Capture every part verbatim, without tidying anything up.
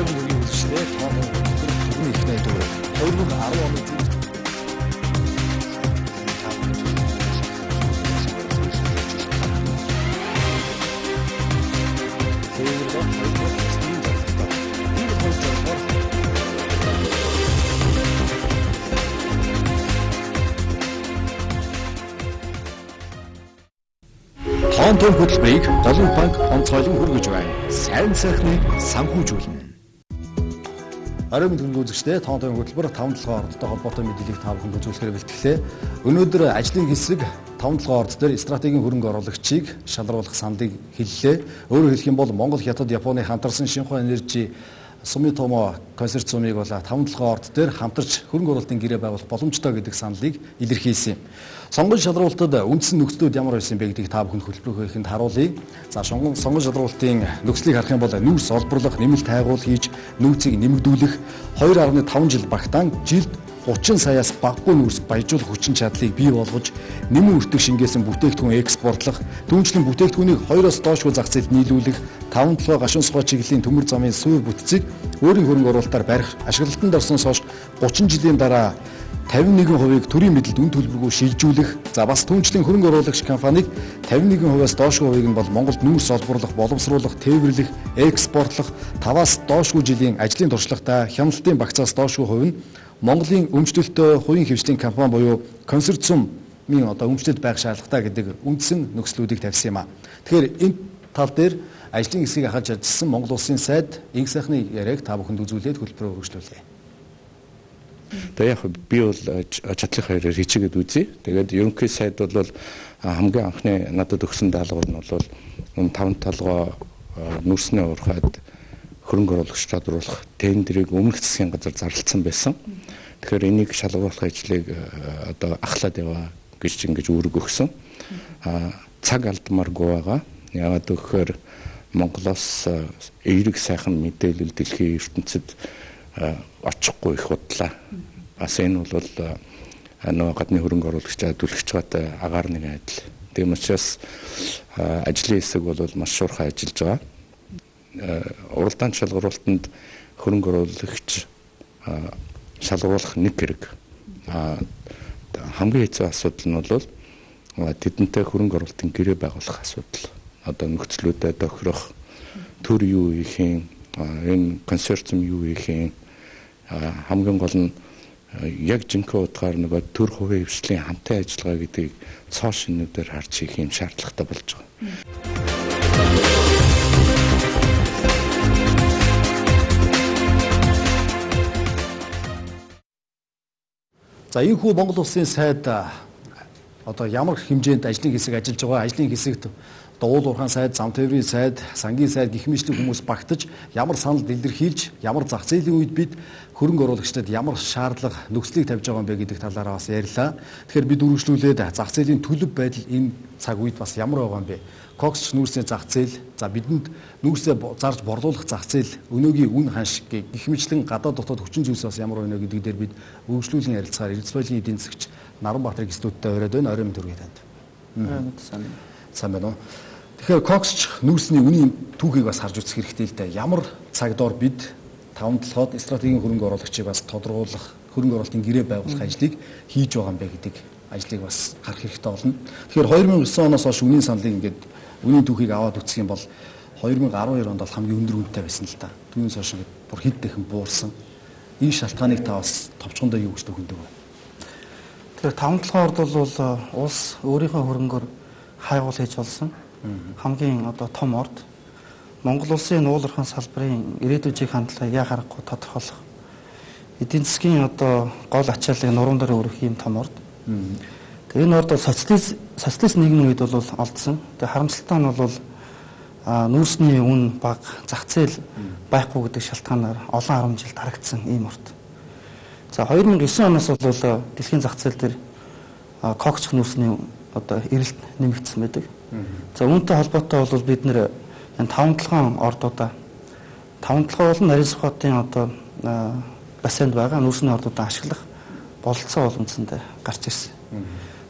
Оройн үеийн үзэгчдээ тооны түргэн их найдвар хоёр мың арван оны зэрэг тоон том хөтөлбөрийг Голын банк онцгойлон хүргэж байна. Сайн сайхныг санхүүжүүлнэ. Оройн төвийн үзэгчдээ тоон том хөтөлбөр таван толгой ордтой холбоотой мэдээллийг та бүхэнд үзүүлэхээр бэлтгэлээ. Өнөөдөр ажлын хэсэг таван толгой орд дээр стратегийн хөрөнгө оруулагчийг шалруулах саналыг хэллээ. Өөрөөр хэлэх юм бол Монгол, Хятад, Японы хамтарсан Шинхua Energy Sumitomo консорциумыг бол таван толгой орд дээр хамтарч хөрөнгө оруулалтын гэрээ байгуулах боломжтой гэдэг саналыг илэрхийлсэн юм. Сонгон шалралтад үндсэн нөхцлүүд ямар байсан бэ гэдгийг та бүхэнд хөтөлбөрөөр харуулъя. За сонгон шалралтын нөхцөлийг харах юм бол нүүрс олборлох, нэмэлт хайгуул хийж нөөцийг нэмэгдүүлэх, хоёр гаруй таван жил багтаан жилд гучин саяас багагүй нүүрс баяжуулах хүчин чадлыг бий болгож, нэмэн үртэг шингээсэн бүтээгдэхүүн экспортлох, түүнчлэн бүтээгдэхүүнийг хоёроос доошгүй зах зээлд нийлүүлэх, таван толгой гашуун сухой чиглэлийн төмөр замын суур бүтцийг өөрийн хөрөнгө оруулалтаар барих, ашиглалтанд орсноос хойш гучин жилийн дараа тавин нэгэн хувийг төрийн мэдэлд үн төлбөргүй шилжүүлэх, за бас түүнчлэн хөрөнгө оруулагч компанийг тавин нэгэн хувиас доошгүй хувийг нь бол Монголд нүүрс олборлох, боловсруулах, тээвэрлэх, экспортлох, таваас доошгүй жилийн ажлын туршлагатай хяналтын багцаас доошгүй хувь нь Монголын өмчлөлтөө хувийн хвшлийн компани буюу консорциумын одоо өмчлөлт байх шаардлагатай гэдэг үндсэн нөхцлүүдийг тавьсан юм а. Тэгэхээр энэ тал дээр ажлын хэсгийг ахаж ажилласан Монгол Улсын сайд инх сайхны яриаг та бүхэнд үзүүлээд хөтөлбөрөөр өргөжлүүлье. Тэгээ яг би бол чадлын хоёроор хичээгээд үзье. Тэгээд ерөнхий сайд бол хамгийн анхны надад өгсөн даалгавар нь бол энэ таван толгой нүүрсний уурхайд хөрөнгө оруулагч чадварлах тендерийг өмнөх засгийн газар зарласан байсан. Тэгэхээр энийг шалгуулах ажлыг одоо ахлаад яваа гэж ингэж үүрэг өгсөн. А цаг алдмааргүй байгаа. Яагаад гэвэл Монголоос эерэг сайхан мэдээлэл дэлхийн ертөнцид очихгүй их бодлоо. Бас энэ бол нөгөө гадны хөрөнгө оруулагчдад төлөвлөж байгаатай агаар нэгэн адил. Тийм учраас ажлын хэсэг бол маш шуурхай ажиллаж байгаа. Уралдаан шалгуулалтанд хөрөнгө оруулагч шалгуулах нэг хэрэг. Хамгийн хэцүү асуудал нь бол тэдэнтэй хөрөнгө оруулалтын гэрээ байгуулах асуудал. Одоо нөхцлүүдэд тохирох төр юу хийх юм, энэ консорциум юу хийх юм, хамгийн гол нь яг жинхэнэ утгаар нөгөө төр хувийн хвшлийн хамтын ажиллагаа гэдгийг цоо шинүүдээр харж хийх юм шаардлагатай болж байгаа. За энэ хүү Монгол Улсын сайд одоо ямар хэмжээнд ажлын хэсэг ажиллаж байгаа, ажлын хэсэгт Дуул уурхайн сайд, зам тээврийн сайд, сангийн сайд гэх мэтлэг хүмүүс багтаж ямар санал илэрхийлж, ямар зах зээлийн үед бид хөрөнгө оруулагчдад ямар шаардлага нөхцөлийг тавьж байгаа юм бэ гэдэг талаараа бас ярьлаа. Тэгэхээр бид үргэлжлүүлээд зах зээлийн төлөв байдал энэ цаг үед бас ямар байгаа юм бэ? Кокс нүүрсний зах зээл, за бидэнд нүүрсээ зарж борлуулах зах зээл, өнөөгийн үн ханш гэх мэтлэн гадаад дотоод хүчин зүйлс бас ямар байна гэдэг дээр бид үргэлжлүүлэн ярилцахаар Эрдэс баялагын эдийн засагч Наранбаатар гистүүдтэй оройд байна. Оройн төргий танд. Сайн. Сайн байна уу? Тэгэхээр коксч нүүрсний үнийн түүхийг бас харж үзэх хэрэгтэй л дээ. Ямар цагдор бид таван толгойд стратегийн хөрөнгө оруулагчийг бас тодорхойлох, хөрөнгө оруулалтын гэрээ байгуулах ажлыг хийж байгаа юм бэ гэдэг ажлыг бас харах хэрэгтэй болно. Тэгэхээр хоёр мың и девять оноос хойш үнийн саналыг ингээд үнийн түүхийг аваад үзэх юм бол хоёр мың и арван хоёр онд бол хамгийн өндөр үнэтэй байсан л та. Түүнээс хойш ингээд бүр хэд дахин буурсан. Энэ шалтгааныг та бас товчхондоо юу гэж төгөндөг вэ? Тэгэхээр таван толгойд бол улс өөрийнхөө хөрөнгөөр хайгуул хийж болсон. Хамгийн одоо том орд Монгол улсын уулархан салбарын ирээдүйн хандлагыг яа харахгүй тодорхойлох эдийн засгийн одоо гол ачааллыг нуруунд дээр өргөх юм том орд. Тэгээ энэ орд социалист социалист нийгмийн үед бол олдсон. Тэгээ харамсалтай нь бол нүүрсний үн бага, зах зээл байхгүй гэдэг шалтгаанаар олон арван жил дарагдсан ийм орд. За хоёр мың и девять оноос бол дэлхийн зах зээл дээр коксч нүүрсний одоо эрэлт нэмэгдсэн байдаг. За үүнтэй холбоотой бол бид нэр энэ таван толгойн ордуудаа таван толгой болон нарийн сухатын одоо бассейнд байгаа нүүрсний ордуудаа ашиглах бололцоо боломжтой гарч ирсэн.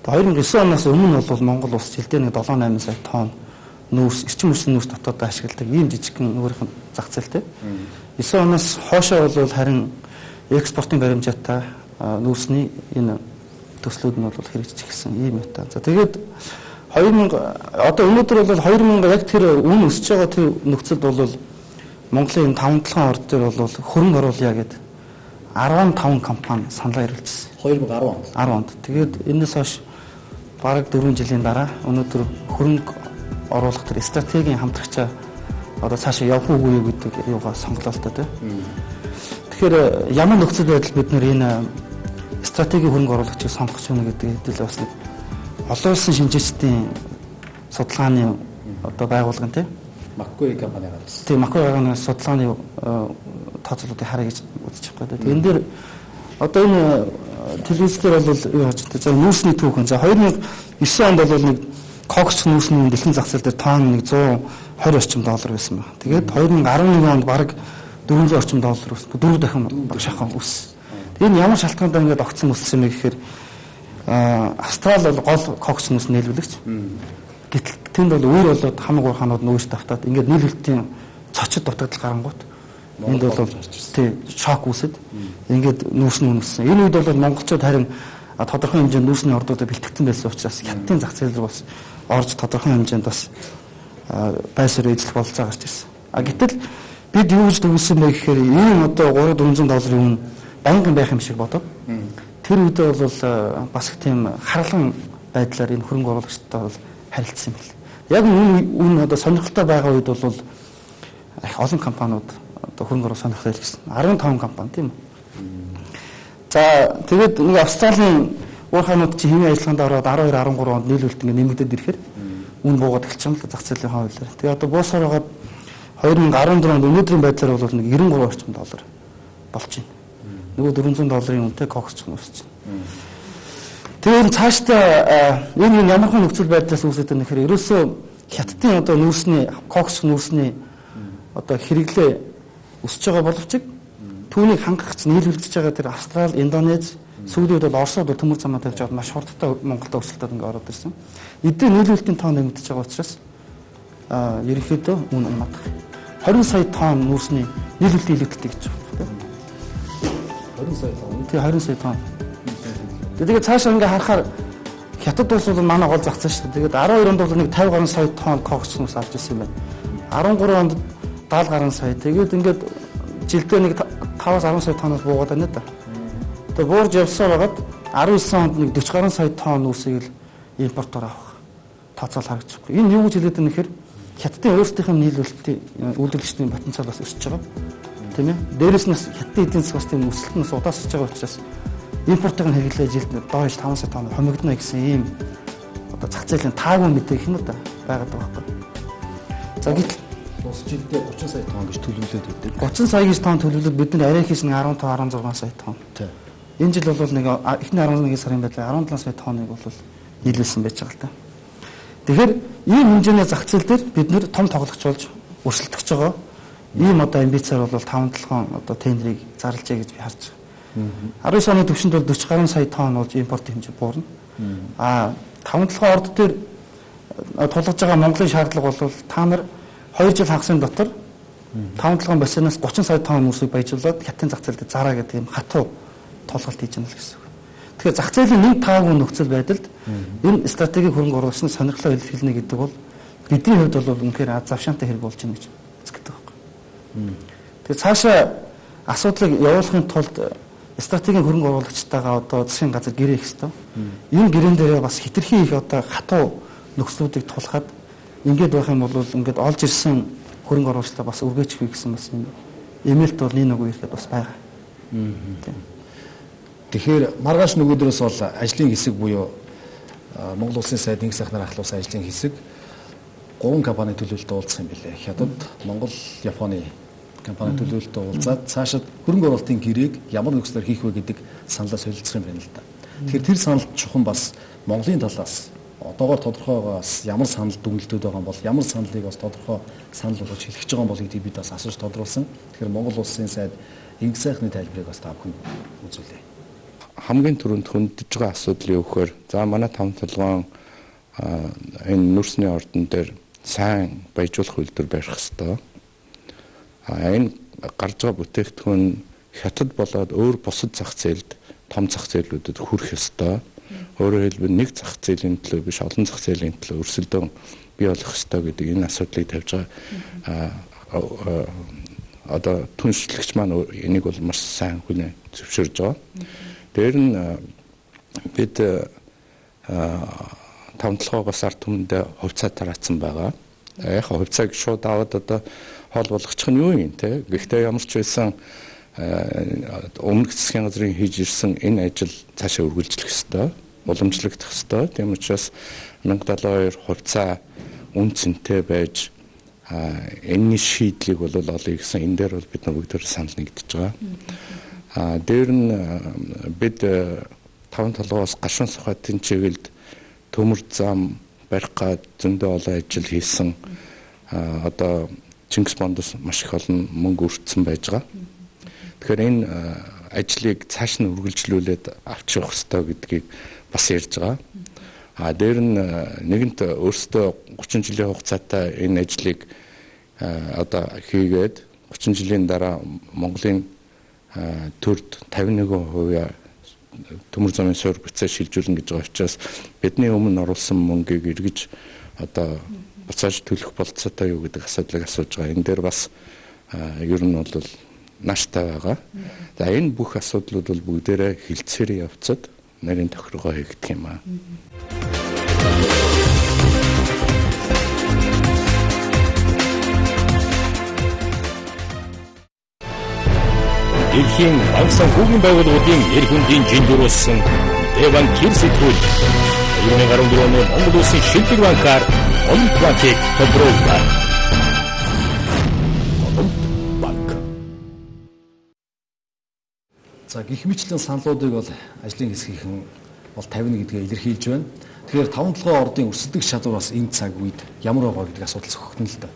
Тэгээ хоёр мың и девять оноос өмнө бол Монгол улс жилдээ нэг долоо намын сая тонн нүүрс, эрчим хүчний нүүрс дотоод ашигладаг ийм жижигхэн өөрийнх нь зах зээлтэй. девять оноос хоошоо бол харин экспортын баримжаатай нүүрсний энэ төслүүд нь бол хэрэгжиж эхэлсэн ийм юм та. За тэгээд две тысячи одоо өнөөдөр бол две тысячи яг тэр үн өсөж байгаа тэр нөхцөлд бол Монголын таван толгойн орд дээр бол хөрөнгө оруулъя гэдэг десять компани саналаа ирүүлжсэн. две тысячи десять онд. десять онд. Тэгээд энэс хойш бараг дөрвөн жилийн дараа өнөөдөр хөрөнгө оруулах тэр стратегийн хамтрагчаа одоо цаашаа явах уугүй гэдэг юугаа сонголоо л та тийм. Тэгэхээр ямар нөхцөл байдал бид нэр энэ стратегийн хөрөнгө оруулагчийг сонгох юм гэдэг хэдэл бас нэг олон улсын шинжээчдийн судалгааны одоо байгууллагын тийм Маккуи компани гаргасан. Тийм Маккуи компани судалгааны тооцоолуудыг харъя гэж үзэж байгаа. Тэгээд энэ дээр одоо энэ телевизээр бол юу яаж вэ? За нүүрсний түүхэн. За две тысячи девять онд бол нэг когч нүүрсний дэлхийн зах зээл дээр тонн нэг one twenty орчим доллар байсан байна. Тэгээд две тысячи eleven онд бараг four hundred орчим доллар өссөн. дөрвөн дахин шахах өссөн. Энэ ямар шалтгаантай ингээд огцсон өссөн юм гэхээр Австрали бол гол когч нүүрс нийлүүлэгч. Гэтэл тэнд бол өөр болоод хамаг уурхаанууд нүүрс давтаад ингээд нийлүүлэлтийн цочид дутагдал гарангуут. Энд бол тий шок үүсэд ингээд нүүрс нь үнэлсэн. Энэ үед бол монголчууд харин тодорхой хэмжээнд нүүрсний ордуудад бэлтгэсэн байсан учраас хятадын зах зээл рүү бас орж тодорхой хэмжээнд бас байсаар эзлэх болцоо гарч ирсэн. А гэтэл бид юу гэж төвлөсөн бэ гэхээр энэ одоо three four hundred долларын үн байнгын байх юм шиг бодоод тэр үедээ бол бас их тийм харгалан байдлаар энэ хөрөнгө оруулагчтай бол харилцсан юм байна. Яг энэ үн одоо сонирхолтой байгаа үед бол их олон компаниуд одоо хөрөнгө оруулах сонирхолтой гэсэн fifteen компани тийм үү. За тэгээд нэг Австралийн уурхаанууд чи хэвийн ажиллагаанд ороод twelve thirteen онд нийлүүлэлт ингэ нэмэгдээд ирэхээр үн буугаад эхэлчихсэн л зах зээлийн хавьлаар. Тэгээд одоо буусаар байгаа twenty fourteen онд өнөөдрийн байдлаар бол нэг ninety-three орчим доллар болж байна. Нөгөө four hundred долларын үнэтэй кокс өсөж байна. Тэгээд цаашдаа энэ ямархан нөхцөл байдлаас үүсэж байгаа нөхөр ерөөсөө хятадын одоо нүүрсний кокс нүүрсний одоо хэрэглээ өсөж байгаа боловч түүнийг хангахч нийлүүлж байгаа тэр Австрали, Индонез, сүүлийн үед бол Оросод төмөр замаа тавьж аваад маш хурдтай Монголд өрсөлдөд ингээ ороод ирсэн. Эдгээр нийлүүлэлтийн тоон нэмэгдэж байгаа учраас аа ерөнхийдөө үн унах. twenty сая тонн нүүрсний нийлүүлэлт илүүдтэй гэж байна. twenty сая тонн. Тий twenty сая тонн. Тэгээд цаашаа ингээ харахаар хятад улс бол манай гол зах зээл шүү. Тэгээд twelve онд бол нэг fifty гаруй сая тонн кокс нүүрс авч ирсэн юм байна. thirteen онд seventy гаруй сая. Тэгээд ингээд жилдээ нэг five ten сая тонноос буугаад байна да. Тэгээд буурж явсаар байгаад nineteen онд нэг forty гаруй сая тонн нүүрсийг л импортоор авах тооцоол харагдаж байна. Энэ юу гэж хэлээд байна гэхээр хятадын өөрсдийнх нь нийлүүлэлтийн үйлдвэрлэгчдийн потенциал бас өсөж байгаа. Тийм ээ. Дээрээс нь хятадын эдийн засаг бас тийм өсөлт нь удаасч байгаа учраас импортыг нь хэрэглээ жилд доош five сая тонн хомигдно гэсэн ийм одоо зах зээлийн таагүй мэдээх юм да байгаад байгаа байхгүй. За гэтэл Улс жилдээ thirty сая тонн гэж төлөвлөд өгдөг. thirty сая гэж тонн төлөвлөд бид нар арай хийс нэг fifteen sixteen сая тонн. Тийм. Энэ жил бол нэг эхний eleven сарын байдлаар seventeen сая тонныг бол нийлүүлсэн байж байгаа л та. Тэгэхээр ийм хэмжээний зах зээл дээр бид нэр том тоглогч болж өрсөлдөх байгаа. Ийм одоо амбицаар бол five seven одоо тендерийг зарлажээ гэж би харж байгаа. nineteen оны төвшөнд бол forty гаруй сая тонн болж импорт хэмжээ буурна. Аа five seven орд дээр тулгаж байгаа Монголын шаардлага бол та нар two жил хагасын дотор five seven бассейнаас thirty сая тонн нүүрсийг баяжуулаад хятадын зах зээлд зараа гэдэг юм хатуу толголт хийж байгаа гэсэн үг. Тэгэхээр зах зээлийн нэг таагүй нөхцөл байдалд энэ стратегийн хөрөнгө оруулагчны сонирхлоо илэрхийлнэ гэдэг бол бидний хувьд бол үнэхээр аз завшаантай хэрэг болж байна гэж үздэг байхгүй. Тэгэхээр цаашаа асуудлыг явуулахын тулд стратегийн хөрөнгө оруулагчтайгаа одоо засгийн газар гэрээ хийх ёстой. Энэ гэрээн дээрээ бас хитрхи их одоо хатуу нөхцлүүдийг тулахад ингээд байх юм бол ингээд олж ирсэн хөрөнгө оруулагчтай бас үргээч хий гэсэн бас юм эмээлт бол нэг нэг ирэхэд бас байгаа. Тэгэхээр маргааш нөгөөдрөөс бол ажлын хэсэг буюу Монгол Улсын сайд нэг сайхнаар ахлуулсан ажлын хэсэг гурван компани төлөвлөлтөд уулзах юм билээ. Хятад, Монгол, Японы компани төлөвлөлтөд уулзаад цаашид хөрөнгө оруулалтын гэрээг ямар нөхцлөөр хийх вэ гэдэг саналаа солилцох юм байна л да. Тэгэхээр тэр санал чухам бас Монголын талаас одоогоор тодорхойгоос ямар санал дүгнэлтүүд байгаа юм бол ямар саналыг бас тодорхой санал болгож хэлчихэж байгаа юм бол гэдгийг бид бас асууж тодруулсан. Тэгэхээр Монгол Улсын сайд нэг сайхны тайлбарыг бас та бүхэн үзүүлээ. Хамгийн түрүүнд хөндөж байгаа асуудал юу гэхээр за манай таван толгойн энэ нүрсний ордон дээр сайн баяжуулах үйлдвэр барих ёстой. А энэ гарч байгаа бүтээгдэхүүн хятад болоод өөр бусад зах зээлд том зах зээлүүдэд хүрэх ёстой. Өөрөөр хэлбэл нэг зах зээлийн төлөө биш олон зах зээлийн төлөө өрсөлдөөн бий болох ёстой гэдэг энэ асуудлыг тавьж байгаа. А одоо түншлэгч маань энийг бол маш сайн хүнээ зөвшөөрж байгаа. Дээр нь бид таван толгоогоос ард түмэндээ хувьцаа тараацсан байгаа. Яг хувьцааг шууд аваад одоо хоол болгочих нь юу юм те. Гэхдээ ямар ч байсан өмнөх засгийн газрын хийж ирсэн энэ ажил цаашаа үргэлжлэх ёстой, уламжлагдах ёстой. Тийм учраас мянга далайн хоёр хувьцаа үн цэнтэй байж энэний шийдлийг бол олъё гэсэн энэ дээр бол бид нар бүгд санал нэгдэж байгаа. А дээр нь бид таван толгоос гашуун сухатын чиглэлд төмөр зам барих гад зөндөө олон ажил хийсэн. Одоо Чингис бондоос маш их олон мөнгө өртсөн байж байгаа. Тэгэхээр энэ ажлыг цааш нь үргэлжлүүлээд авч явах ёстой гэдгийг бас ярьж байгаа. А дээр нь нэгэнт өөрсдөө гучин жилийн хугацаатай энэ ажлыг одоо хийгээд гучин жилийн дараа Монголын төрд тавин нэг хувиа төмөр замын суурь буцаа шилжүүлнэ гэж байгаа учраас бидний өмнө оруулсан мөнгийг эргэж одоо буцааж төлөх болцоотой юу гэдэг асуудлыг асууж байгаа. Энэ дээр бас ер нь бол нааштай байгаа. За энэ бүх асуудлууд бол бүгдээрээ хилцээрээ явцад нарийн тохиргоо хийгдэх юм аа. Дэлхийн банк санхүүгийн байгууллагуудын эр хүндийн жиндөрүүлсэн Дэван Кир сэтгүүл deux mille dix-quatre оны Монгол Улсын шилдэг банкар Олимп банкыг тодрууллаа. Олимп банк. За гэх мэтлэн саналуудыг бол ажлын хэсгийнхэн бол тавина гэдгээ илэрхийлж байна. Тэгэхээр таван толгой ордын өрсөлдөх чадвараас энэ цаг үед ямар байгаа гэдэг асуудал зохигдно л да.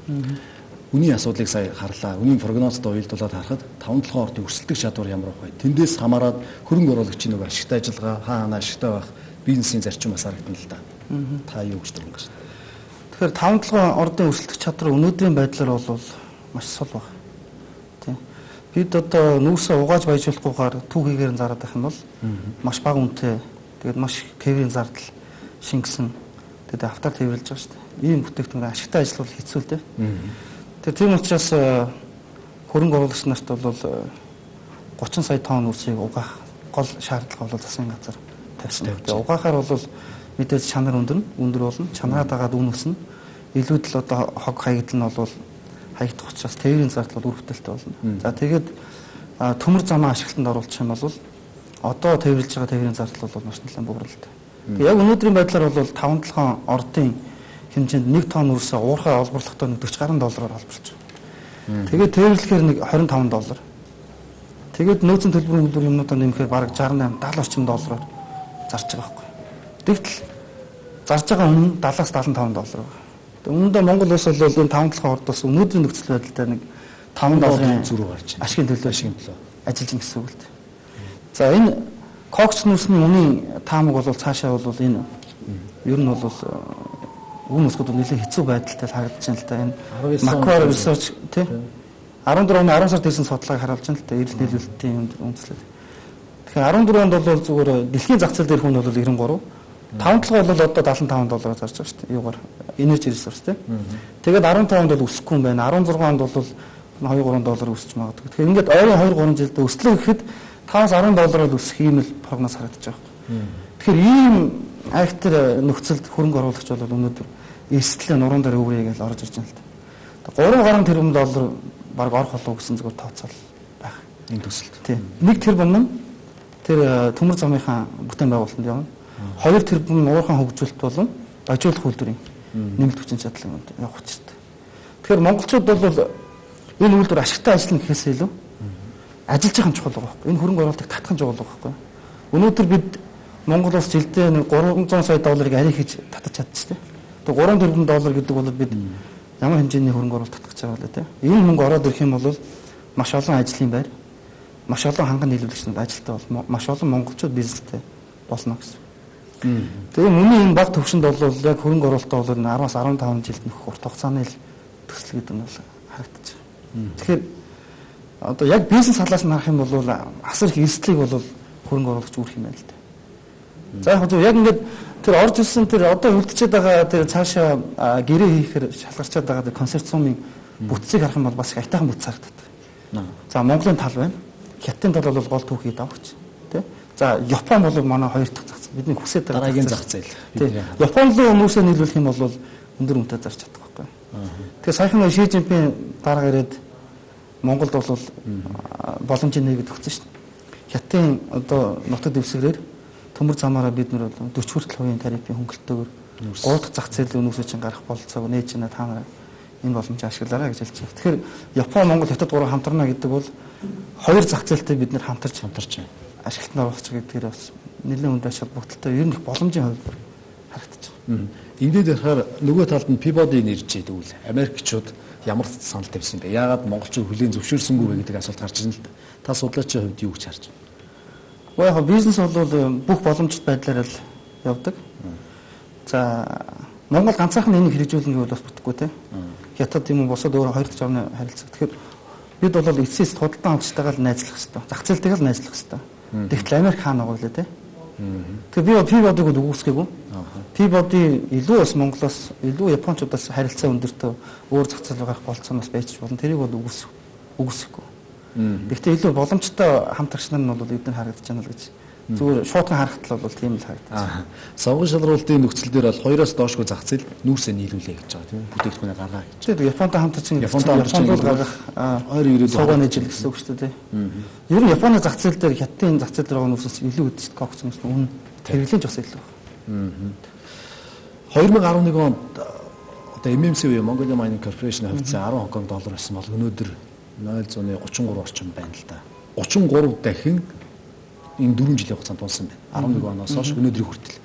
Үний асуудлыг сая харлаа. Үнийн прогнозд уялдуулаад харахад таван толгой ордын өрсөлдөх чадвар ямар байх вэ? Тэндээс хамаарад хөрөнгө оруулагчийн нөгөө ашигтай ажиллагаа хаана ашигтай байх бизнесийн зарчим бас харагдана л да. Та юу гэж дүрэн гэж. Тэгэхээр таван толгой ордын өрсөлдөх чадвар өнөөдрийн байдлаар бол маш сул баг. Тийм. Бид одоо нүүрсээ угааж баяжуулахгүйгээр түүхийгээр нь зараад байх юм бол маш бага үнэтэй. Тэгээд маш тээврийн зардал шингэсэн. Тэгээд автар тээвэрлж байгаа шүү дээ. Ийм бүтээгдэхүүн ашигтай ажиллавал хэцүү л дээ. Тэгээд тийм учраас хөрөнгө оруулагч нарт бол гучин сая тонн үрсийг угаах гол шаардлага бол засгийн газар тавьсан. Тэгээд угаахаар бол мэдээж чанар өндөр өндөр болно. Чанараа дагаад үн өснө. Илүүд л одоо хог хаягдл нь бол хаягдах учраас тээврийн зардал бол үр бүтээлтэй болно. За тэгээд төмөр замаа ашиглалтанд оруулах юм бол одоо тээвэрлж байгаа тээврийн зардал бол маш нэлээд бууралтай. Тэгээд яг өнөөдрийн байдлаар бол таван толгой ордын хэмжээнд нэг тонн үрсээ уурхай олборлохдоо forty гаруй доллараар олборлож байна. Тэгээд тээвэрлэхээр нэг twenty-five доллар. Тэгээд нөөцийн төлбөрийн үйлдвэр юмнуудаа нэмэхээр бараг sixty-eight seventy орчим доллараар зарж байгаа байхгүй. Тэгтэл зарж байгаа үнэ seventy-seventy-five доллар байна. Тэгээд үүндээ Монгол улс бол энэ таван толгой ордоос өнөөдрийн нөхцөл байдлаар нэг five долларын зүрх гарч байна. Ашигын төлөө ашигын төлөө ажиллаж байгаа гэсэн үг л дээ. За энэ кокс нүсний үнийн таамаг бол цаашаа бол энэ ер нь бол үн өсгөд нэлээд хэцүү байдалтай харагдаж байна л да. Энэ Macquarie Research тий fourteen оны ten сард хийсэн судалгааг харуулж байна л да. Эрэлт нийлүүлэлтийн үндэслэл. Тэгэхээр fourteen онд бол зүгээр дэлхийн зах зээл дээр хүн бол ninety-three, таван толгой бол одоо seventy-five доллараар зарж байгаа шүү дээ. Юугаар energy resource тий. Тэгээд fifteen онд бол өсөхгүй юм байна. sixteen онд бол two three доллар өсч магадгүй. Тэгэхээр ингээд ойрын two three жилдээ өслөө гэхэд five ten доллараар өсөх юм л прогноз харагдаж байгаа юм. Тэгэхээр ийм актер нөхцөлд хөрөнгө оруулагч бол өнөөдөр эрсдлээ нуруунд дээр өврээ гэж орж ирж байна л да. three гаруй тэрбум доллар баг орох болов гэсэн зүгээр тооцоол байх. Энэ төсөлд. Тийм. one тэрбум нь тэр төмөр замынхаа бүтээн байгуулалтанд явна. two тэрбум нь уурхайн хөгжүүлэлт болон ажиулах үйлдвэрийн нэмэлт хүчин чадлын үнд явах учиртай. Тэгэхээр монголчууд бол энэ үйлдвэр ашигтай ажиллана гэхээс илүү ажиллаж байгаа юм чухал байгаа байхгүй. Энэ хөрөнгө оруулалтыг татах нь чухал байгаа байхгүй. Өнөөдөр бид Монгол улс жилдээ three hundred сая долларыг арай хийж татаж чадчихжээ. Тэгээ three тэрбум доллар гэдэг бол бид ямар хэмжээний хөрөнгө оруулалт татах гэж байгаа вэ те. Энэ мөнгө ороод ирэх юм бол маш олон ажлын байр, маш олон ханган нийлүүлэгчнүүд ажилтаа бол маш олон монголчууд бизнестэй болно гэсэн. Тэгээ миний энэ баг төвшөнд бол яг хөрөнгө оруулалтаа бол араас арван таван жилд нөхөх урт хугацааны л төсөл гэдэг нь бол харагдаж байна. Тэгэхээр одоо яг бизнес талаас нь харах юм бол асар их эрсдлийг бол хөрөнгө оруулагч үүрх юм байна л дээ. За яг зөв яг ингээд тэр орж ирсэн тэр одоо үлдчихэд байгаа тэр цаашаа гэрээ хийхээр шалгарчаад байгаа тэр консорциумын бүтцийг харах юм бол бас их айтайхан бүтц харагддаг. За Монголын тал байна. Хятадын тал бол гол түүхий давч тий. За Япон бол манай хоёр дахь зах зээл. Бидний хүсэж байгаа дараагийн зах зээл. Тий. Япон руу хүмүүсээ нийлүүлэх юм бол өндөр үнэтэй зарж чадах байхгүй. Тэгэхээр саяхан Ши Жинпин дараа ирээд Монголд бол боломжийн нээгээд өгсөн шүү дээ. Хятадын одоо нутаг дэвсгэрээр төмөр замаараа бид нэр дөрвөн хүртэл хувийн тарифын хөнгөлөлтөөр гурав дахь зах зээлийн үнүүсээ чинь гарах болцоог нээж чана та нараа энэ боломжийг ашиглаарай гэж хэлж байна. Тэгэхээр Япон, Монгол, Хятад гурав хамтарна гэдэг бол хоёр зах зээлтэй бид нэр хамтарч хамтарч ашиглалтанд оруулах гэдгээр бас нэлээд хүнд ач холбогдолтой ер нь их боломжийн хувь харагдаж байна. Ингээд ярахаар нөгөө талд нь Peabody нэрж идэг үл Америкчууд ямар санал тавьсан бэ? Яагаад монголчууд хүлээн зөвшөөрсөнгүй вэ гэдэг асуулт гарч ирнэ л да. Та судлаачийн хувьд юу гэж харж байна? Уу яг бизнес бол бүх боломжит байдлаар л явдаг. За Монгол ганцаархан энийг хэрэгжүүлнэ гэвэл бас бүтэхгүй те. Хятад юм уу босоод өөр хоёр дахь орны харилцаа. Тэгэхээр бид бол эцсээс худалдан авчтайгаа л найзлах хэрэгтэй. Зах зээлтэйгээ л найзлах хэрэгтэй. Тэгтэл Америк хаана байгаа лээ те. Тэгэхээр би Peabody-г үгүйсгээгүй. Peabody илүү бас Монголоос илүү Япончуудаас харилцаа өндөртөө өөр зах зээл гарах болцооноос байж болно. Тэрийг бол үгүйс үгүйсэхгүй. Гэхдээ илүү боломжтой хамтрагч нар нь бол эдгээр харагдаж байна л гэж. Зүгээр шуудхан харахад бол тийм л харагдаж байна. Сонгон шалралтын нөхцөл дээр бол хоёроос доошгүй зах зээл нүүрсээ нийлүүлээ гэж байгаа тийм үү? Бүтээгдэхүүнээ гаргаа гэж. Тэгээд Японтой хамтарч Японтой хамтарч гаргах хоёр ирээд суугаа нээжил гэсэн үг шүү дээ. Ер нь Японы зах зээл дээр Хятадын зах зээл дээр байгаа нүүрсээс илүү үдшид кокцноос үнэ хэрэглэн ч бас илүү байна. хоёр мянга арван нэг онд одоо эм эм си буюу Mongolia Mining Corporation хувьцаа арван Хонконг доллар байсан бол өнөөдөр нуль зуун гучин гурав орчим байна л да. гучин гурав дахин энэ дөрвөн жилийн хугацаанд унсан байна. арван нэг оноос хойш өнөөдрийн хүртэл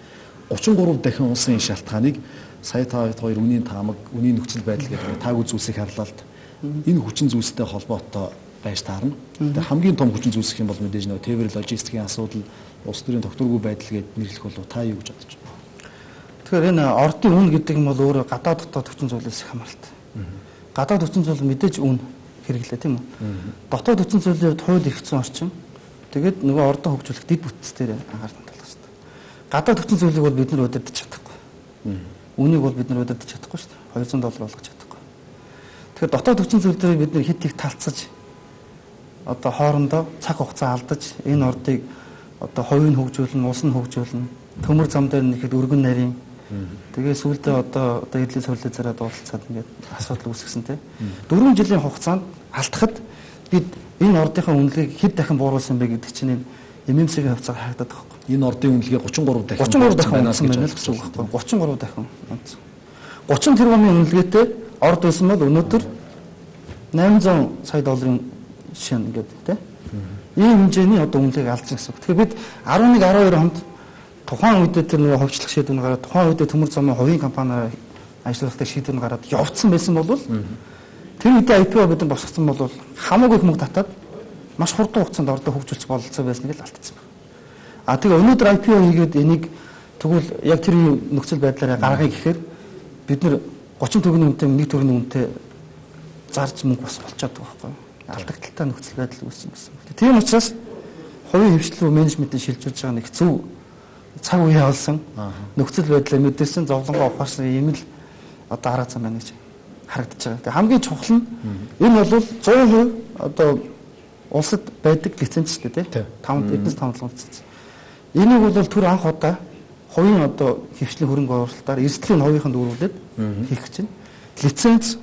гучин гурав дахин унсан энэ шалтгааныг сая та хоёр үнийн таамаг, үнийн нөхцөл байдал гэдэг тааг үзүүлсэх харлалт энэ хүчин зүйлстэй холбоотой байж таарна. Тэгээ хамгийн том хүчин зүйлс гэх юм бол мэдээж нөгөө тээвэр логистикийн асуудал, улс төрийн тогтворгүй байдал гэдээ нэрлэх болов та юу гэж бодож байна? Тэгэхээр энэ ордын үн гэдэг нь бол өөрөө гадаад дотоод хүчин зүйлээс их хамааралтай. Гадаад хүчин зүйл мэдээж үн хэрэглээ тийм үү. Дотоод хүчин зүйлийн хувьд хууль эрхцэн орчин. Тэгээд нөгөө ордоо хөгжүүлэх дэд бүтц дээр анхаарал хандуулах хэрэгтэй. Гадаад хүчин зүйлийг бол бид нар удирдах чадахгүй. Үнийг бол бид нар удирдах чадахгүй шүү дээ. хоёр зуун доллар болгож чадахгүй. Тэгэхээр дотоод хүчин зүйл дээр бид нар хит их талцаж одоо хоорондоо цаг хугацаа алдаж энэ ордыг одоо хувийг хөгжүүлнэ, улс нь хөгжүүлнэ. Төмөр зам дээр нэхэд өргөн нарийн тэгээ сүүлдээ одоо одоо эдлээ цолио зараад уулзаад ингээд асуудал үүсгэсэн тийм. дөрвөн жилийн хугацаанд алдахад бид энэ ордынхаа үнэлгээг хэд дахин бууруулсан бэ гэдэг чинь эм эм си-ийн хувьцаар харагдаад байгаа юм. Энэ ордын үнэлгээ гучин гурав дахин гучин гурав дахин байна гэсэн үг байхгүй. гучин гурав дахин онцсон. гучин тэрбумын үнэлгээтэй орд байсан бол өнөөдөр найман зуун сая долларын шин ингээд тийм. Ийм хэмжээний одоо үнэлгээг алдсан гэсэн үг. Тэгэхээр бид арван нэг арван хоёр онд тухайн үедээ тэр нөгөө ховчлох шийдвэр гараад тухайн үедээ төмөр замын хувийн компаниар ажиллахтай шийдвэр гараад явцсан байсан бол тэр үедээ ай пи о бид нар босгосон бол хамаагүй их мөнгө татаад маш хурдан хугацаанд ордоо хөгжүүлчих бололцоо байсныг л алдсан байна. А тэгээ өнөөдөр ай пи о хийгээд энийг тэгвэл яг тэр нөхцөл байдлаараа гаргая гэхээр бид нар гучин төгрөгийн үнэтэй нэг төгрөгийн үнэтэй зарж мөнгө бас болчиход байгаа байхгүй юу? Алдагдaltaй нөхцөл байдал үүссэн гэсэн. Тийм учраас хувийн хвшлэл рүү менежментийн шилжүүлж байгаа нэг зөв цаг үе явуулсан нөхцөл байдлаа мэдэрсэн зовлонгоо ухаарсан юм л одоо арга зам байна гэж харагдаж байгаа. Тэгээ хамгийн чухал нь энэ бол зуун хувь одоо улсад байдаг лиценз шүү дээ тийм. Таван эднэс таван лиценз. Энийг бол түр анх удаа хувийн одоо хвшлийн хөрөнгө оруулалтаар эрсдлийн хувийнханд дүүрүүлээд хийх гэж байна. Лиценз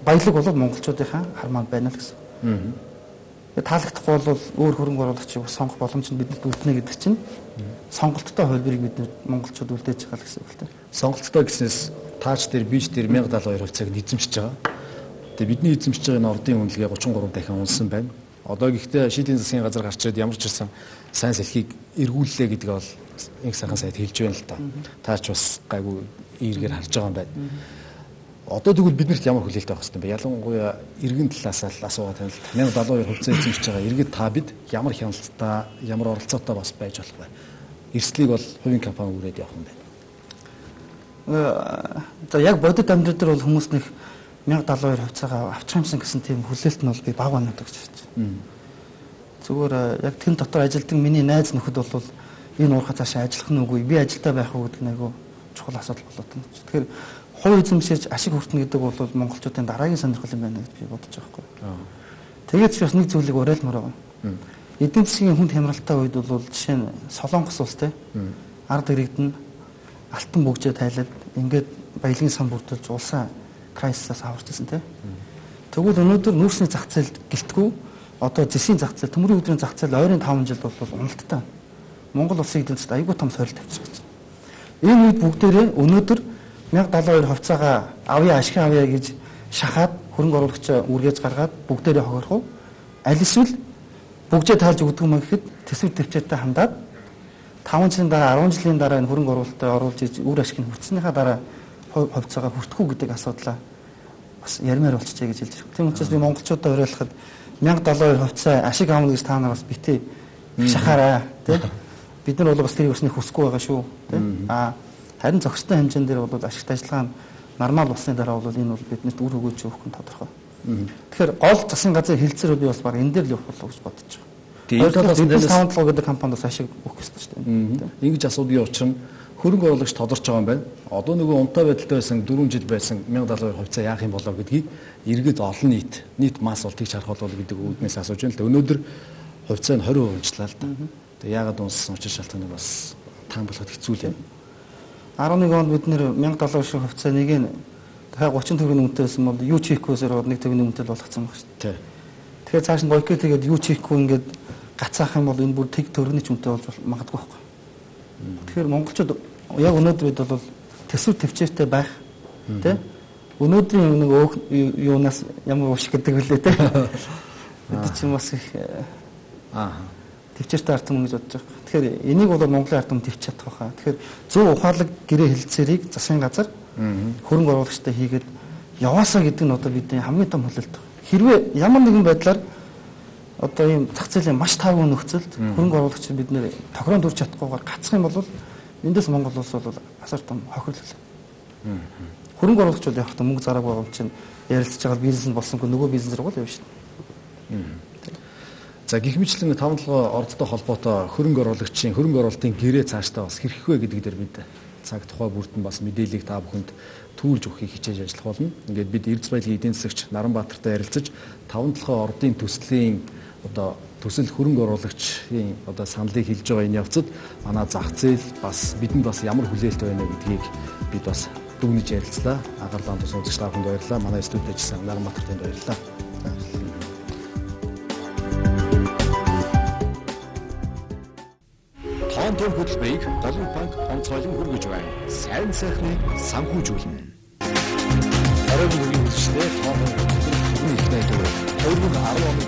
баялаг бол монголчуудынхаа хармаанд байна л гэсэн. Таалагдахгүй бол өөр хөрөнгө оруулагчийг сонгох боломж нь бидэнд үлдэнэ гэдэг чинь сонголттой хувьбарыг бид монголчууд үлдээж байгаа л гэсэн үг л дээ. Сонголттой гэснээс таач дээр бич дээр мянга даалга хоёр хувьцааг эзэмшиж байгаа. Тэгээ бидний эзэмшиж байгаа энэ ордын үнэлгээ гучин гурав дахин унсан байна. Одоо гэхдээ шийдлийн засгийн газар гарч ирээд ямар ч ирсэн сайн салхийг эргүүллээ гэдгээ бол инх сайхан сайд хэлж байна л та. Таач бас гайгүй эргээр харж байгаа юм байна. Одоо тэгвэл биднэрт ямар хүлээлт авах хэрэгтэй бэ? Ялангуяа иргэн талаас л асуугаад байна л та. мянга даалга хоёр хувьцаа эзэмшиж байгаа иргэд та бид ямар хяналттай, ямар оролцоотой бас байж болох вэ? эрсдлийг бол хувийн компани үрээд явах юм байна. За яг бодит амьдрал дээр бол хүмүүс нэг мянга далайн хоёр хувьцаагаа авчих юмсан гэсэн тийм хүлээлт нь бол би баг байна гэж хэлж байна. Зүгээр яг тэн дотор ажилладаг миний найз нөхөд бол энэ уурхай цаашаа ажиллах нь үгүй би ажилдаа байх уу гэдэг нь айгүй чухал асуудал болоод байна. Тэгэхээр хувь эзэмшиж ашиг хүртэнэ гэдэг бол монголчуудын дараагийн сонирхол юм байна гэж би бодож байгаа байхгүй. Тэгээд ч бас нэг зүйлийг уриалмаар байгаа. Эдийн засгийн хүнд хямралтай үед бол жишээ нь Солонгос улс те ард иргэдэн алтан бүгжээ тайлаад ингээд баялагын сан бүрдүүлж улсаа крайсисаас аварч ирсэн те. Тэгвэл өнөөдөр нүүрсний зах зээл гэлтгүү одоо зэсийн зах зээл төмрийн өдрийн зах зээл ойрын таван жил бол уналттай. Монгол улсын эдийн засгт аюулгүй том сорилт авчихсан. Энэ үед бүгдээрээ өнөөдөр мянга далайн хоёр хувьцаагаа авъя ашиг авъя гэж шахаад хөрөнгө оруулагчаа үргээж гаргаад бүгдээрээ хохирох уу? Аль эсвэл бүгжээ тайлж өгдөг юм гэхэд төсөв төвчээртэй хандаад таван жилийн дараа арван жилийн дараа энэ хөрөнгө оруулалтаа оруулж иж үр ашиг нь хүртснийхаа дараа хувьцаагаа хүртэх үү гэдэг асуудлаа бас ярмаар болчихжээ гэж хэлж байна. Тийм учраас би монголчуудаа уриалахад мянга далайн хоёр хувьцаа ашиг аавна гэж та нар бас битээ шахаараа тийм бид нар бол бас тэрийг өснөх хүсэхгүй байгаа шүү тийм а харин зохистой хэмжээнд дээр бол ашигт ажиллагаа нь нормал болсны дараа бол энэ бол биднэрт үр өгөөж өгөх нь тодорхой. Тэгэхээр гол засгийн газрын хилцээрүүд би бас баг энэ дээр л явах болов гэж бодож байгаа. Тэгээд талаас нь саундлагаа гэдэг компаниас ашиг өгөх гэсэн шүү дээ. Ингэж асуудгийн учир нь хөрөнгө оруулагч тодорч байгаа юм байна. Одоо нөгөө унтаа байдалтай байсан дөрвөн жил байсан мянга далайн хоёр хувьцаа яах юм болоо гэдгийг иргэд олон нийт нийт масс бол тэгж харах болов гэдэг үүднээс асууж байна л да. Өнөөдөр хувьцаа нь двадцать процент унчлаа л да. Тэгээд яагаад унссан учир шалтгааныг бас таан болгоход хэцүү л юм. арван нэг онд бид нэр мянга далайн хоёр хувьцаа нэг нь дахиад гучин төгрөгийн үнэтэй байсан бол юу чихгүйсээр нэг төгрөгийн үнэтэй болгоцсон байна шүү дээ. Тэгэхээр цааш нь бойкот тэгээд юу чихгүй ингээд гацаах юм бол энэ бүр тэг төгрөгийн ч үнэтэй болж магадгүй байхгүй. Тэгэхээр монголчууд яг өнөөдөр бид бол төсөв төвчээртэй байх тий өнөөдрийн нэг юунаас ямар уушиг гэдэг вүлээ тий бид ч юм бас их аа төвчээртэй ард түмэн гэж бодож байгаа. Тэгэхээр энийг бол Монголын ард түмэн төвч чадах байхаа. Тэгэхээр зөв ухаалаг гэрээ хэлэлцээрийг засгийн газар хөрөнгө оруулагчтай хийгээд яваасаа гэдэг нь одоо бидний хамгийн том хүлээлт. Хэрвээ ямар нэгэн байдлаар одоо ийм зах зээлийн маш таагүй нөхцөлд хөрөнгө оруулагч бид нэр тохирон дүрч чадахгүйгээр гацх юм бол эндээс Монгол улс бол асар том хохирлол. Хөрөнгө оруулагч бол яг та мөнгө зараагүй байгаа юм чинь ярилцж байгаа бизнес нь болсонгүй нөгөө бизнес рүү л явна шүү дээ. За гэх мэтлэн таван толгой ордтой холбоотой хөрөнгө оруулагчийн хөрөнгө оруулалтын гэрээ цаашдаа бас хэрхэх вэ гэдэг дээр бид цаг тухай бүрдэн бас мэдээллийг та бүхэнд түүлж өгөхийг хичээж ажиллах болно. Ингээд бид Эрдэс баялагын эдийн засагч Наранбаатартай ярилцаж таван толгой ордын төслийн одоо төсөл хөрөнгө оруулагчийн одоо саналыг хэлж байгаа энэ явцад манай зах зээл бас бидэнд бас ямар хүлээлт байна гэдгийг бид бас дүгнэж ярилцлаа. Агарлаан тус үзэгч та бүхэнд баярлалаа. Манай студид ажилласан Наранбаатартанд баярлалаа. Тоон хөтөлбөрийг Голомт банк онцгойлон хүргэж байна. Сайн сайхны санхүүжүүлнэ. Оройн үеийн үзэгчдээ тоон хөтөлбөр их найдвар хоёр мың арван оны